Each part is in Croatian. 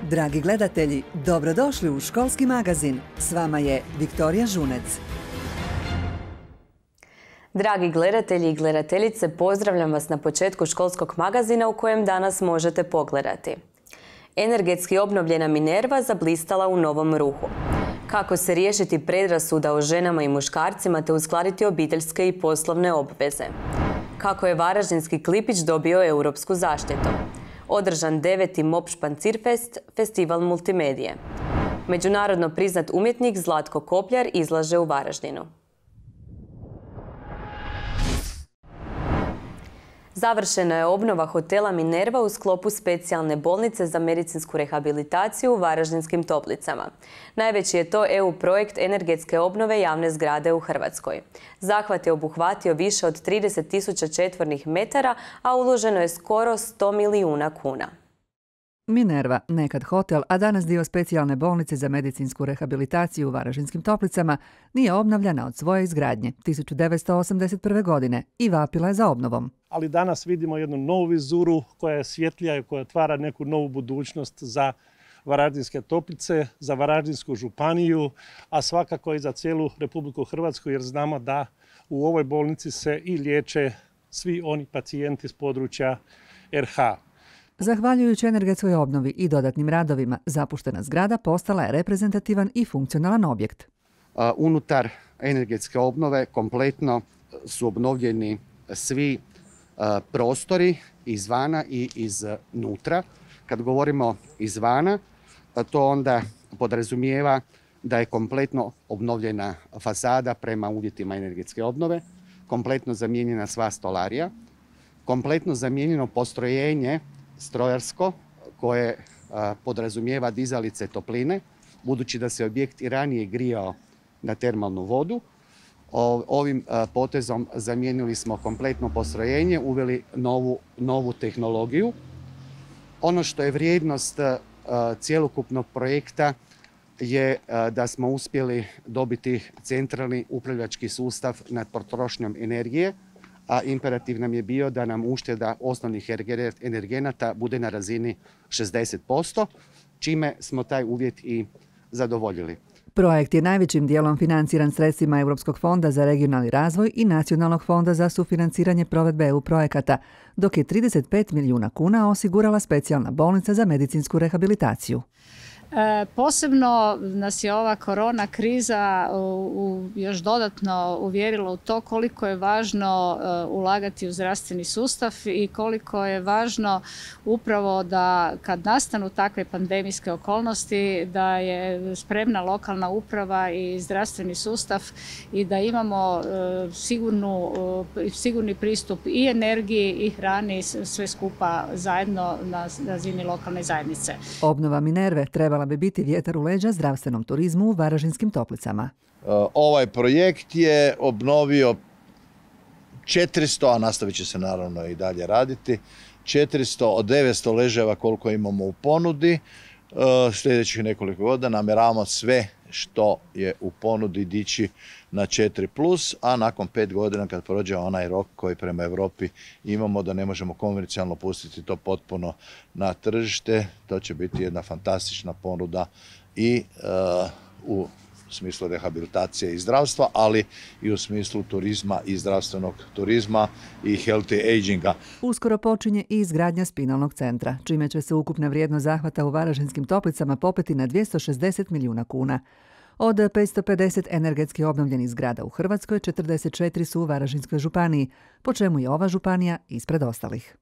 Dragi gledatelji, dobrodošli u školski magazin. S vama je Viktorija Žunec. Dragi gledatelji i gledateljice, pozdravljam vas na početku školskog magazina u kojem danas možete pogledati. Energetski obnovljena Minerva zablistala u novom ruhu. Kako se riješiti predrasuda o ženama i muškarcima te uskladiti obiteljske i poslovne obveze. Kako je varaždinski Klipić dobio europsku zaštitu. Održan 9. MOP Špancirfest, festival multimedije. Međunarodno priznat umjetnik Zlatko Kopljar izlaže u Varaždinu. Završena je obnova hotela Minerva u sklopu specijalne bolnice za medicinsku rehabilitaciju u Varaždinskim Toplicama. Najveći je to EU projekt energetske obnove javne zgrade u Hrvatskoj. Zahvat je obuhvatio više od 30.000 četvornih metara, a uloženo je skoro 100 milijuna kuna. Minerva, nekad hotel, a danas dio specijalne bolnice za medicinsku rehabilitaciju u Varaždinskim Toplicama, nije obnavljana od svoje izgradnje 1981. godine i vapila je za obnovom. Ali danas vidimo jednu novu vizuru koja je svjetlija i koja otvara neku novu budućnost za Varaždinske Toplice, za Varaždinsku županiju, a svakako i za cijelu Republiku Hrvatsku, jer znamo da u ovoj bolnici se i liječe svi oni pacijenti s područja RH. Zahvaljujući energetskoj obnovi i dodatnim radovima, zapuštena zgrada postala je reprezentativan i funkcionalan objekt. Unutar energetske obnove kompletno su obnovljeni svi prostori izvana i iznutra. Kad govorimo izvana, to onda podrazumijeva da je kompletno obnovljena fasada prema uvjetima energetske obnove, kompletno zamijenjena sva stolarija, kompletno zamijenjeno postrojenje strojarsko koje podrazumijeva dizalice topline, budući da se objekt i ranije grijao na termalnu vodu. Ovim potezom zamijenili smo kompletno postrojenje, uveli novu tehnologiju. Ono što je vrijednost cjelokupnog projekta je da smo uspjeli dobiti centralni upravljački sustav nad potrošnjom energije, a imperativ nam je bio da nam ušteda osnovnih energenata bude na razini 60%, čime smo taj uvjet i zadovoljili. Projekt je najvećim dijelom financiran sredstvima Europskog fonda za regionalni razvoj i Nacionalnog fonda za sufinanciranje provedbe EU projekata, dok je 35 milijuna kuna osigurala specijalna bolnica za medicinsku rehabilitaciju. Posebno nas je ova korona kriza još dodatno uvjerila u to koliko je važno ulagati u zdravstveni sustav i koliko je važno upravo da kad nastanu takve pandemijske okolnosti da je spremna lokalna uprava i zdravstveni sustav i da imamo sigurni pristup i energiji i hrani sve skupa zajedno na razini lokalne zajednice. Obnova Minerve trebala bi biti vjetar u leđa zdravstvenom turizmu u Varaždinskim Toplicama. Ovaj projekt je obnovio 400, a nastavit će se naravno i dalje raditi, 400 od 900 ležajeva koliko imamo u ponudi. Sljedećih nekoliko godina namjeravamo sve što je u ponudi dići na 4+, a nakon 5 godina kad prođe onaj rok koji prema Europi imamo da ne možemo komercijalno pustiti to potpuno na tržište, to će biti jedna fantastična ponuda i u smislu rehabilitacije i zdravstva, ali i u smislu turizma i zdravstvenog turizma i healthy aginga. Uskoro počinje i izgradnja spinalnog centra, čime će se ukupna vrijednost zahvata u Varaždinskim Toplicama popeti na 260 milijuna kuna. Od 550 energetski obnovljenih zgrada u Hrvatskoj, 44 su u Varaždinskoj županiji, po čemu je ova županija ispred ostalih.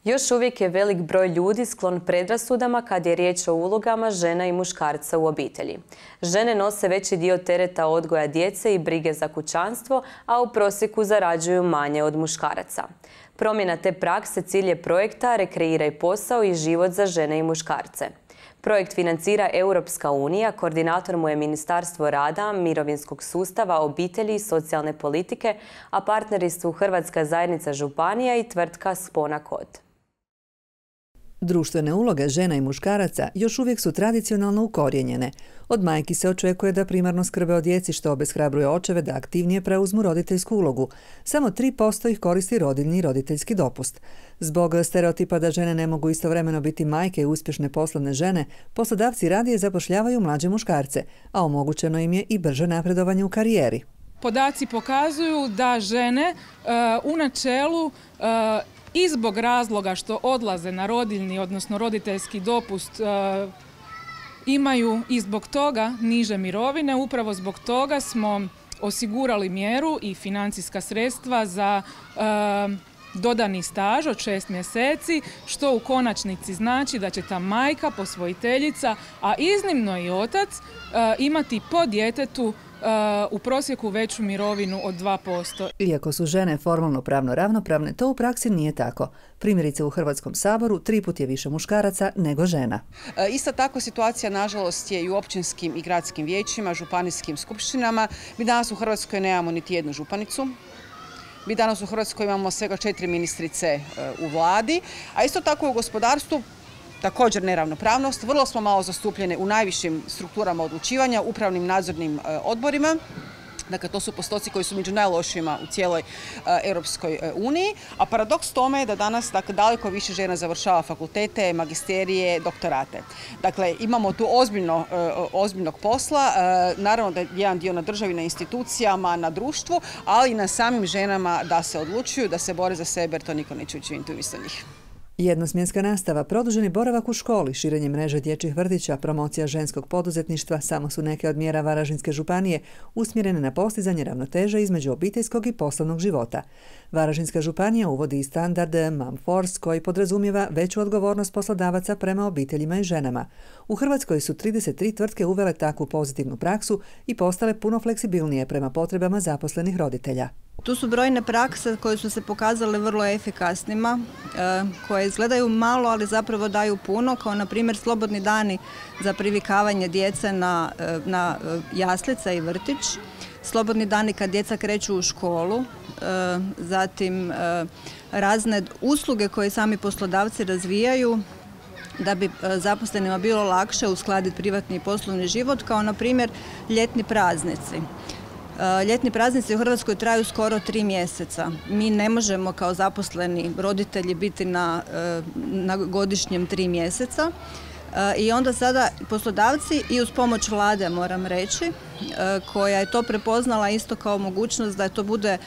Još uvijek je velik broj ljudi sklon predrasudama kad je riječ o ulogama žena i muškarca u obitelji. Žene nose veći dio tereta odgoja djece i brige za kućanstvo, a u prosjeku zarađuju manje od muškaraca. Promjena te prakse cilj je projekta Rekreiraj posao i život za žene i muškarce. Projekt financira Europska unija, koordinator mu je Ministarstvo rada, mirovinskog sustava, obitelji i socijalne politike, a partneri su Hrvatska zajednica županija i tvrtka Spona Kod. Društvene uloge žena i muškaraca još uvijek su tradicionalno ukorijenjene. Od majki se očekuje da primarno skrbe o djeci, što obeshrabruje očeve da aktivnije preuzmu roditeljsku ulogu. Samo 3% ih koristi rodiljni i roditeljski dopust. Zbog stereotipa da žene ne mogu istovremeno biti majke i uspješne poslovne žene, poslodavci radije zapošljavaju mlađe muškarce, a omogućeno im je i brže napredovanje u karijeri. Podaci pokazuju da žene u načelu i zbog razloga što odlaze na rodiljni, odnosno roditeljski dopust, imaju i zbog toga niže mirovine. Upravo zbog toga smo osigurali mjeru i financijska sredstva za dodani staž od 6 mjeseci, što u konačnici znači da će ta majka, posvojiteljica, a iznimno i otac, imati po djetetu u prosjeku veću mirovinu od 2%. Iako su žene formalno pravno ravnopravne, to u praksi nije tako. Primjerice u Hrvatskom saboru 3 puta je više muškaraca nego žena. Isto tako situacija nažalost je i u općinskim i gradskim vijećima, županijskim skupštinama. Mi danas u Hrvatskoj nemamo niti jednu županicu. Mi danas u Hrvatskoj imamo svega 4 ministrice u vladi, a isto tako u gospodarstvu također neravnopravnost. Vrlo smo malo zastupljene u najvišim strukturama odlučivanja, upravnim nadzornim odborima. Dakle, to su postoci koji su među najlošijima u cijeloj Europskoj uniji. A paradoks tome je da danas daleko više žena završava fakultete, magisterije, doktorate. Dakle, imamo tu ozbiljnog posla. Naravno da je jedan dio na državi, na institucijama, na društvu, ali i na samim ženama da se odlučuju, da se bore za sebe, jer to niko neće učiniti umjesto njih. Jednosmjenska nastava, produženi boravak u školi, širenje mreže dječjih vrtića, promocija ženskog poduzetništva samo su neke od mjera Varaždinske županije usmjerene na postizanje ravnoteže između obiteljskog i poslovnog života. Varaždinska županija uvodi i standard Mom Force koji podrazumijeva veću odgovornost poslodavaca prema obiteljima i ženama. U Hrvatskoj su 33 tvrtke uvele takvu pozitivnu praksu i postale puno fleksibilnije prema potrebama zaposlenih roditelja. Tu su brojne prakse koje su se pokazale vrlo efikasnima, koje izgledaju malo, ali zapravo daju puno, kao na primjer slobodni dani za privikavanje djece na jaslice i vrtić, slobodni dani kad djeca kreću u školu, zatim razne usluge koje sami poslodavci razvijaju da bi zaposlenima bilo lakše uskladiti privatni i poslovni život, kao na primjer ljetni praznici. Ljetni praznici u Hrvatskoj traju skoro 3 mjeseca. Mi ne možemo kao zaposleni roditelji biti na godišnjem 3 mjeseca. I onda sada poslodavci i uz pomoć vlade, moram reći, koja je to prepoznala isto kao mogućnost da to bude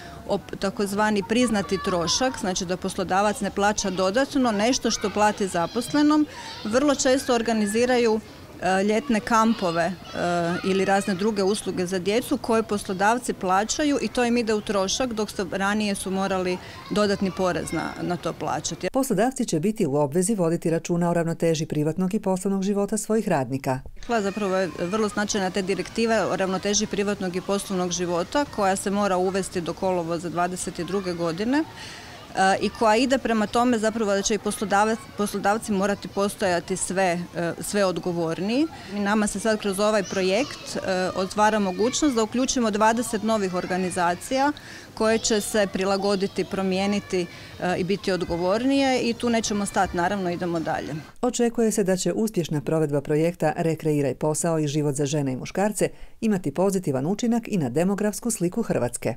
takozvani priznati trošak, znači da poslodavac ne plaća dodatno nešto što plati zaposlenom, vrlo često organiziraju ljetne kampove ili razne druge usluge za djecu koje poslodavci plaćaju i to im ide u trošak, dok ranije su morali dodatni porez na to plaćati. Poslodavci će biti u obvezi voditi računa o ravnoteži privatnog i poslovnog života svojih radnika. Zapravo je vrlo značajna te direktive o ravnoteži privatnog i poslovnog života koja se mora uvesti do kolovoza 2022. godine. I koja ide prema tome zapravo da će i poslodavci morati postojati sve odgovorniji. Nama se sad kroz ovaj projekt otvara mogućnost da uključimo 20 novih organizacija koje će se prilagoditi, promijeniti i biti odgovornije i tu nećemo stati, naravno idemo dalje. Očekuje se da će uspješna provedba projekta Rekreiraj posao i život za žene i muškarce imati pozitivan učinak i na demografsku sliku Hrvatske.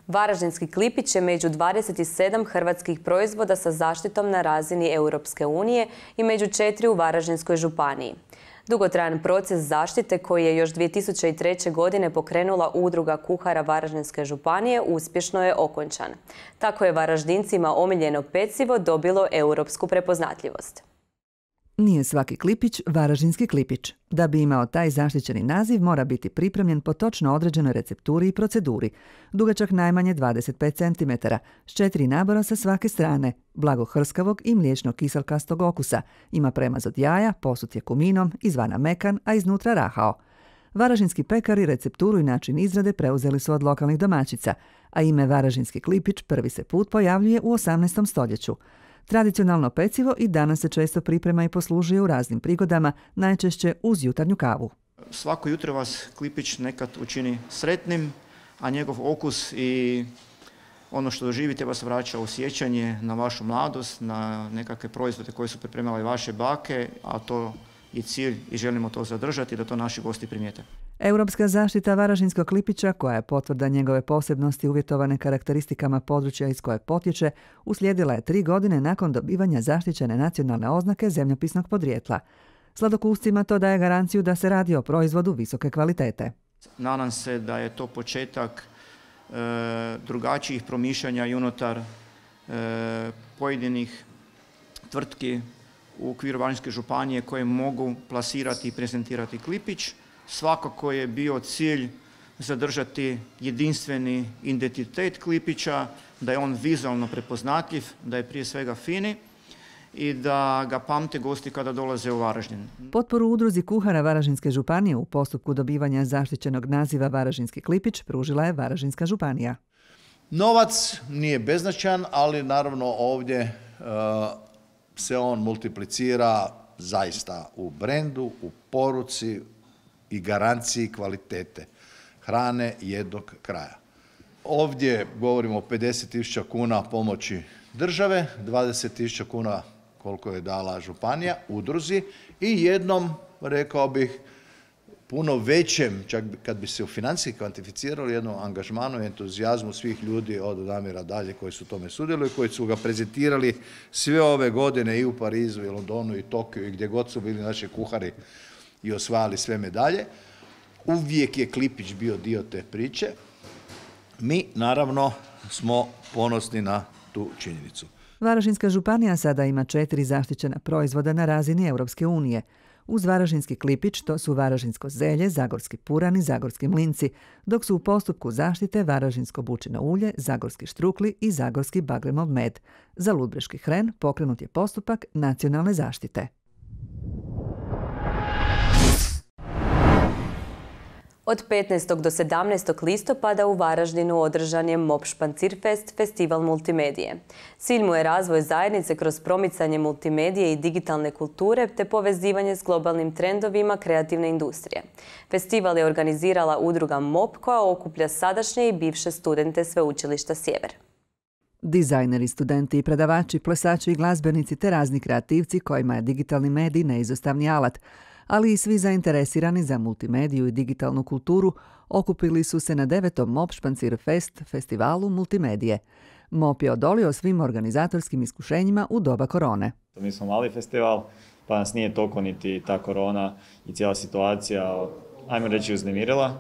Varaždinski klipić je među 27 hrvatskih proizvoda sa zaštitom na razini Europske unije i među 4 u Varaždinskoj županiji. Dugotrajan proces zaštite koji je još 2003. godine pokrenula Udruga kuhara Varaždinske županije uspješno je okončan. Tako je Varaždincima omiljeno pecivo dobilo europsku prepoznatljivost. Nije svaki klipić Varaždinski klipić. Da bi imao taj zaštićeni naziv mora biti pripremljen po točno određenoj recepturi i proceduri. Dugačak najmanje 25 cm, s 4 nabora sa svake strane, blago hrskavog i mliječno kiselkastog okusa. Ima premaz od jaja, posut je kuminom, izvana mekan, a iznutra rahao. Varaždinski pekari recepturu i način izrade preuzeli su od lokalnih domaćica, a ime Varaždinski klipić prvi se put pojavljuje u 18. stoljeću. Tradicionalno pecivo i danas se često priprema i poslužuje u raznim prigodama, najčešće uz jutarnju kavu. Svako jutro vas klipić nekad učini sretnim, a njegov okus i ono što doživite vas vraća u sjećanje na vašu mladost, na nekakve proizvode koje su pripremale vaše bake, a to je cilj i želimo to zadržati da to naši gosti primijete. Europska zaštita varaždinskog klipića, koja je potvrda njegove posebnosti uvjetovane karakteristikama područja iz kojeg potječe, uslijedila je 3 godine nakon dobivanja zaštićene nacionalne oznake zemljopisnog podrijetla. Sladokuscima to daje garanciju da se radi o proizvodu visoke kvalitete. Nadam se da je to početak drugačijih promišljanja i unutar pojedinih tvrtki u okviru Varaždinske županije koje mogu plasirati i prezentirati klipić. Svakako je bio cilj zadržati jedinstveni identitet klipića, da je on vizualno prepoznatljiv, da je prije svega fini i da ga pamte gosti kada dolaze u Varaždin. Potporu udruzi kuhara Varaždinske županije u postupku dobivanja zaštićenog naziva Varaždinski klipić pružila je Varaždinska županija. Novac nije beznačajan, ali naravno ovdje se on multiplicira zaista u brendu, u poruci i garanciji kvalitete hrane jednog kraja. Ovdje govorimo o 50.000 kuna pomoći države, 20.000 kuna koliko je dala županija udruzi i jednom, rekao bih, puno većem, čak kad bi se u financijski kvantificirali, jednom angažmanu i entuzijazmu svih ljudi od Damira dalje koji su tome sudjelovali, koji su ga prezentirali sve ove godine i u Parizu, i Londonu, i Tokiju, i gdje god su bili naši kuhari i osvajali sve medalje. Uvijek je klipić bio dio te priče. Mi, naravno, smo ponosni na tu činjenicu. Varaždinska županija sada ima 4 zaštićena proizvoda na razini Europske unije. Uz varaždinski klipić to su varaždinsko zelje, zagorski puran i zagorski mlinci, dok su u postupku zaštite varaždinsko bučino ulje, zagorski štrukli i zagorski bagremov med. Za ludbreški hren pokrenut je postupak nacionalne zaštite. Od 15. do 17. listopada u Varaždinu održan je MOP Špancirfest, festival multimedije. Cilj mu je razvoj zajednice kroz promicanje multimedije i digitalne kulture te povezivanje s globalnim trendovima kreativne industrije. Festival je organizirala udruga MOP koja okuplja sadašnje i bivše studente Sveučilišta Sjever. Dizajneri, studenti i predavači, plesači i glazbenici te razni kreativci kojima je digitalni medij neizostavni alat, ali i svi zainteresirani za multimediju i digitalnu kulturu okupili su se na 9. MOP Špancirfest festivalu multimedije. MOP je odolio svim organizatorskim iskušenjima u doba korone. Mi smo mali festival, pa nas nije toliko niti ta korona i cijela situacija, ajmo reći, uznemirila.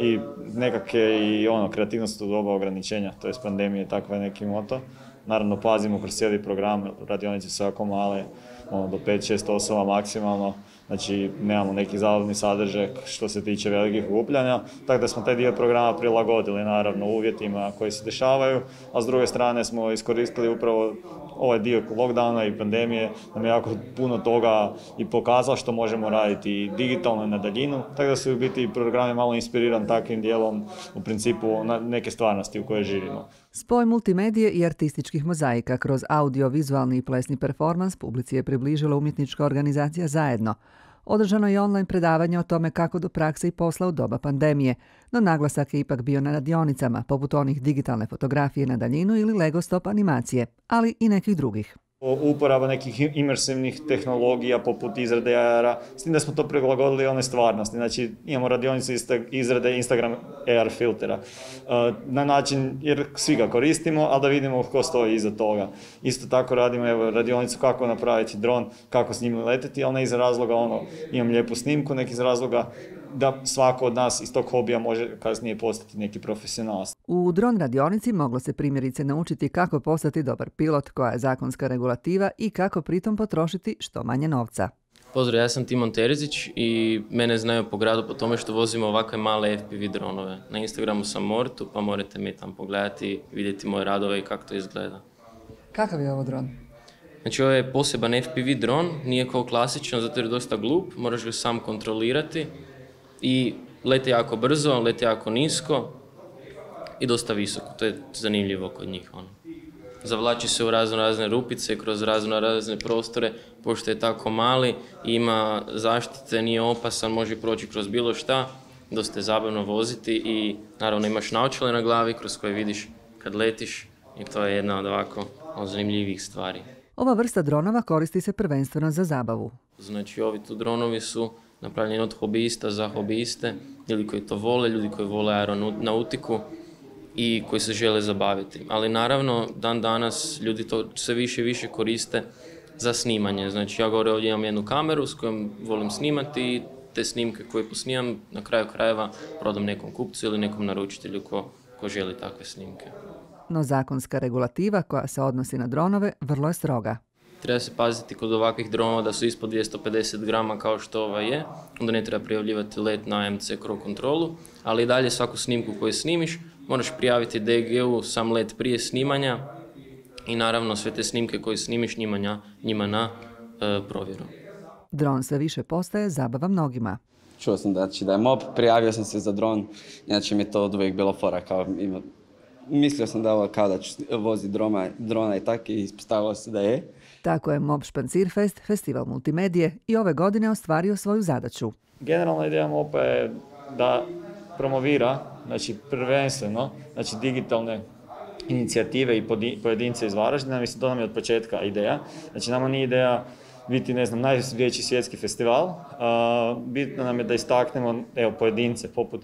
I nekak je i kreativnost u doba ograničenja, to je pandemije, takva je neki moto. Naravno, pazimo kroz cijeli program, radionice su jako male, do 5-6 osoba maksimalno. Znači, nemamo neki zabavni sadržaj što se tiče velikih okupljanja, tako da smo taj dio programa prilagodili naravno uvjetima koji se dešavaju, a s druge strane smo iskoristili upravo ovaj dio lockdowna i pandemije, nam je jako puno toga i pokazalo što možemo raditi i digitalno i na daljinu, tako da su u biti programi malo inspiriran takvim dijelom u principu na neke stvarnosti u kojoj živimo. Spoj multimedije i artističkih mozaika kroz audio, vizualni i plesni performans publici je približila umjetnička organizacija Zajedno. Održano je online predavanje o tome kako do prakse i posla u doba pandemije, no naglasak je ipak bio na radionicama, poput onih digitalne fotografije na daljinu ili Lego stop animacije, ali i nekih drugih. Uporaba nekih imersivnih tehnologija poput izrade AR-a, s tim da smo to prilagodili one stvarnosti. Znači, imamo radionicu izrade Instagram AR filtera na način, jer svi ga koristimo, ali da vidimo ko stoji iza toga. Isto tako radimo radionicu kako napraviti dron, kako s njim leteti, ali ne iz razloga imam lijepu snimku, neki iz razloga da svako od nas iz tog hobija može kasnije postati neki profesionalac. U dron radionici moglo se primjerice naučiti kako postati dobar pilot, koja je zakonska regulativa i kako pritom potrošiti što manje novca. Pozdrav, ja sam Timon Terezić i mene znaju po gradu po tome što vozimo ovakve male FPV dronove. Na Instagramu sam Mortu, pa morate mi tam pogledati i vidjeti moje radove i kako to izgleda. Kakav je ovo dron? Znači, ovo je poseban FPV dron, nije kao klasičan zato jer je dosta glup, moraš ga sam kontrolirati i lete jako brzo, lete jako nisko i dosta visoko. To je zanimljivo kod njih. Zavlači se u razne rupice, kroz razne prostore, pošto je tako mali, ima zaštite, nije opasan, može proći kroz bilo šta, dosta je zabavno voziti i naravno imaš naočale na glavi kroz koje vidiš kad letiš i to je jedna od ovako zanimljivih stvari. Ova vrsta dronova koristi se prvenstveno za zabavu. Znači ovi tu dronovi su napravljeni od hobijista za hobijiste, ljudi koji to vole, ljudi koji vole aeronautiku i koji se žele zabaviti. Ali naravno, dan danas ljudi to sve više i više koriste za snimanje. Znači ja gore ovdje imam jednu kameru s kojom volim snimati i te snimke koje posnimam na kraju krajeva prodam nekom kupcu ili nekom naručitelju ko želi takve snimke. No zakonska regulativa koja se odnosi na dronove vrlo je stroga. Treba se paziti kod ovakvih dronova da su ispod 250 grama kao što ova je, onda ne treba prijavljivati let na MC Crow kontrolu, ali i dalje svaku snimku koju snimiš moraš prijaviti DG-u sam let prije snimanja i naravno sve te snimke koje snimiš njima na provjeru. Dron sve više postaje zabava mnogima. Čuo sam da je MOP, prijavio sam se za dron, inače mi je to od uvijek bilo fora. Mislio sam da ovo kao da ću voziti drona i tako i ispostavilo se da je. Tako je MOP Špancirfest, festival multimedije, i ove godine ostvario svoju zadaću. Generalna ideja MOP-a je da promovira, znači prvenstveno, znači digitalne inicijative i pojedince iz Varaždina. Mislim, to nam je od početka ideja. Znači, nama nije ideja biti, najveći svjetski festival. Bitno nam je da istaknemo pojedince, poput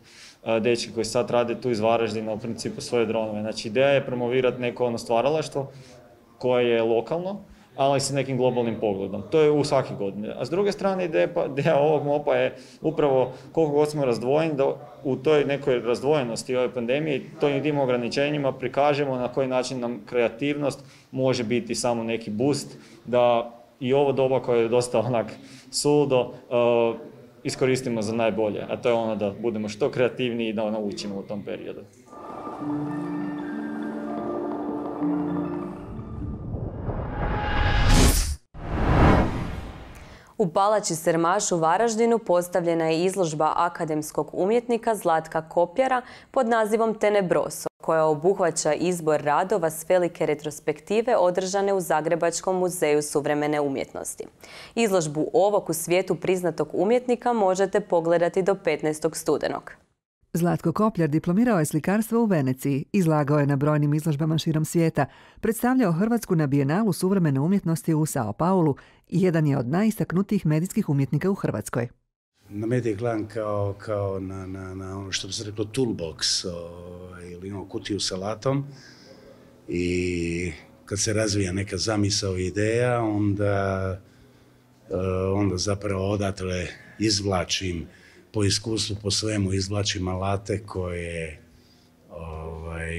dečki koji sad rade tu iz Varaždina, u principu svoje dronove. Znači, ideja je promovirati neko stvaralaštvo koje je lokalno, ali sa nekim globalnim pogledom. To je u svake godine. A s druge strane, ideja ovog MOP-a je upravo koliko god smo razdvojeni, da u toj nekoj razdvojenosti ove pandemije, tim ograničenjima prikažemo na koji način nam kreativnost može biti samo neki boost, da i ovo doba koje je dosta suludo iskoristimo za najbolje. A to je da budemo što kreativniji i da naučimo u tom periodu. U Palači Sermaš u Varaždinu postavljena je izložba akademskog umjetnika Zlatka Kopljara pod nazivom Tenebroso, koja obuhvaća izbor radova s velike retrospektive održane u Zagrebačkom muzeju suvremene umjetnosti. Izložbu ovog u svijetu priznatog umjetnika možete pogledati do 15. studenog. Zlatko Kopljar diplomirao je slikarstvo u Veneciji, izlagao je na brojnim izložbama širom svijeta, predstavljao Hrvatsku na Bijenalu suvremene umjetnosti u Sao Paulu i jedan je od najistaknutijih medijskih umjetnika u Hrvatskoj. Na medije gledam kao na ono što bi se reklo toolbox ili kutiju sa alatom, i kad se razvija neka zamisao i ideja, onda zapravo odatle izvlačim po iskustvu, po svemu izvlačim alate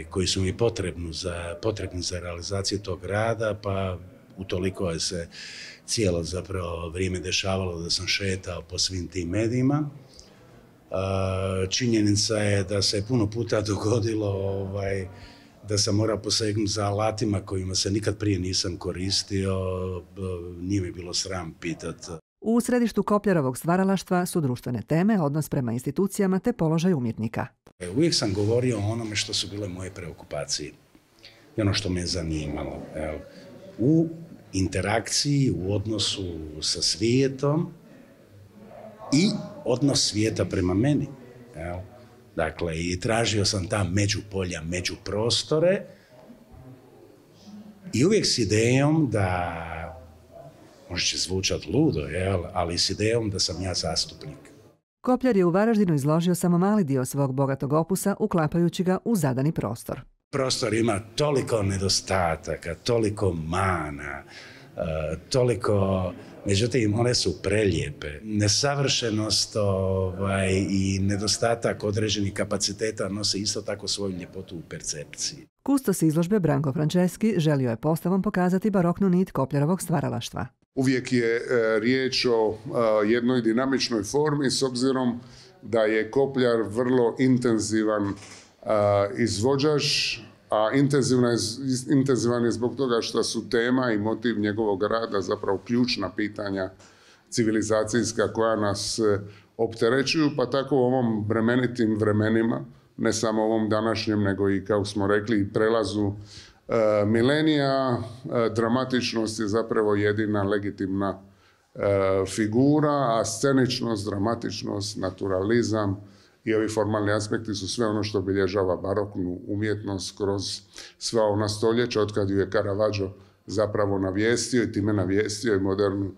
koji su mi potrebni za realizaciju tog rada, pa utoliko je se cijelo zapravo vrijeme dešavalo da sam šetao po svim tim medijima. Činjenica je da se puno puta dogodilo da sam morao posegnuti za alatima kojima se nikad prije nisam koristio, nije mi bilo sram pitati. U središtu Kopljarovog stvaralaštva su društvene teme, odnos prema institucijama te položaj umjetnika. Uvijek sam govorio o onome što su bile moje preokupacije i ono što me je zanimalo. U interakciji, u odnosu sa svijetom i odnos svijeta prema meni. Dakle, i tražio sam ta međupolja, međuprostore i uvijek s idejom da, možda će zvučati ludo, ali s idejom da sam ja zastupnik. Kopljar je u Varaždinu izložio samo mali dio svog bogatog opusa, uklapajući ga u zadani prostor. Prostor ima toliko nedostataka, toliko mana, toliko, međutim, one su prelijepe. Nesavršenost i nedostatak određenih kapaciteta nose isto tako svoju ljepotu u percepciji. Kustos izložbe Branko Franceski želio je postavom pokazati baroknu nit Kopljarovog stvaralaštva. Uvijek je riječ o jednoj dinamičnoj formi, s obzirom da je Kopljar vrlo intenzivan izvođač, a intenzivan je zbog toga što su tema i motiv njegovog rada zapravo ključna pitanja civilizacijska koja nas opterećuju, pa tako u ovom bremenitim vremenima, ne samo ovom današnjem, nego i, kao smo rekli, prelazu milenija, dramatičnost je zapravo jedina legitimna figura, a sceničnost, dramatičnost, naturalizam i ovi formalni aspekti su sve ono što obilježava baroknu umjetnost kroz sva ona stoljeća, otkad ju je Caravaggio zapravo navijestio i time navijestio i modernu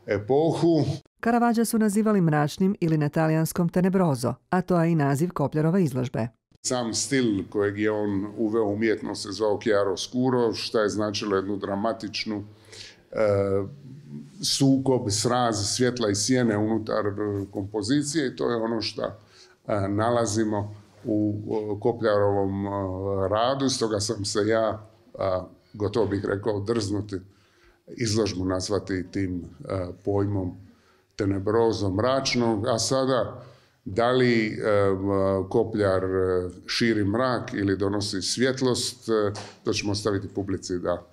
epohu. Caravaggia su nazivali mračnim ili na talijanskom tenebrozo, a to je i naziv Kopljarove izložbe. Sam stil kojeg je on uveo umjetnost se zvao chiaroscuro, što je značilo jednu dramatičnu sukob, sraz svjetla i sjene unutar kompozicije i to je ono što nalazimo u Kopljarovom radu. Stoga sam se ja, gotovo bih rekao, drznuti izložbu nazvati tim pojmom tenebrozo, mračnog, a sada da li Kopljar širi mrak ili donosi svjetlost, to ćemo ostaviti publici da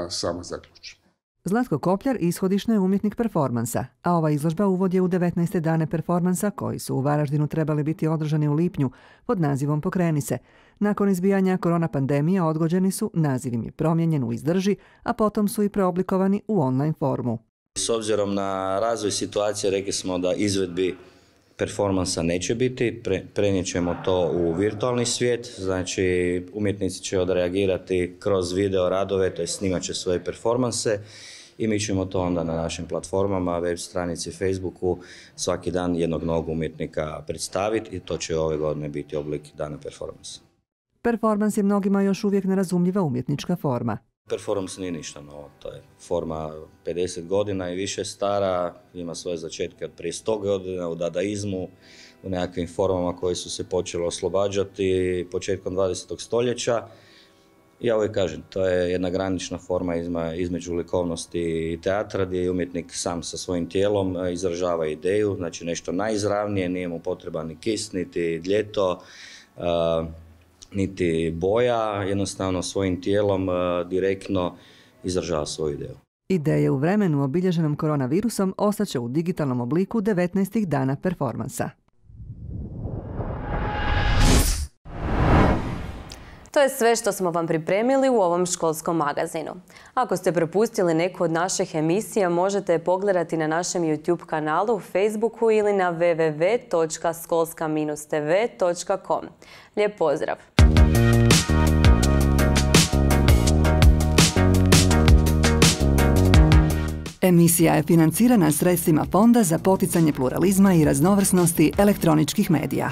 sama zaključi. Zlatko Kopljar ishodišno je umjetnik performansa, a ova izložba uvod je u 19. dane performansa koji su u Varaždinu trebali biti održani u lipnju pod nazivom Pokreni se. Nakon izbijanja korona pandemije odgođeni su, naziv im je promijenjen u Izdrži, a potom su i preoblikovani u online formu. S obzirom na razvoj situacije rekli smo da izvedbi performansa neće biti, prenijet ćemo to u virtualni svijet, znači umjetnici će odreagirati kroz video radove, to je snimat će svoje performanse i mi ćemo to onda na našim platformama, web stranici, Facebooku svaki dan jednog novog umjetnika predstaviti i to će ove godine biti oblik dana performansa. Performans je mnogima još uvijek nerazumljiva umjetnička forma. Performance nije ništa novo, to je forma 50 godina i više stara, ima svoje začetke od prije 100 godina u dadaizmu, u nekakvim formama koje su se počele oslobađati početkom 20. stoljeća. Ja uvijek kažem, to je jedna granična forma između likovnosti i teatra gdje je umjetnik sam sa svojim tijelom izražava ideju, znači nešto najizravnije, nije mu potreban ni kis, niti ljeto, niti boja, jednostavno svojim tijelom direktno izražava svoju ideju. Ideje u vremenu obilježenom koronavirusom ostaće u digitalnom obliku 19. dana performansa. To je sve što smo vam pripremili u ovom školskom magazinu. Ako ste propustili neku od naših emisija, možete je pogledati na našem YouTube kanalu, Facebooku ili na www.skolska-tv.com. Lijep pozdrav! Emisija je financirana sredstvima Fonda za poticanje pluralizma i raznovrsnosti elektroničkih medija.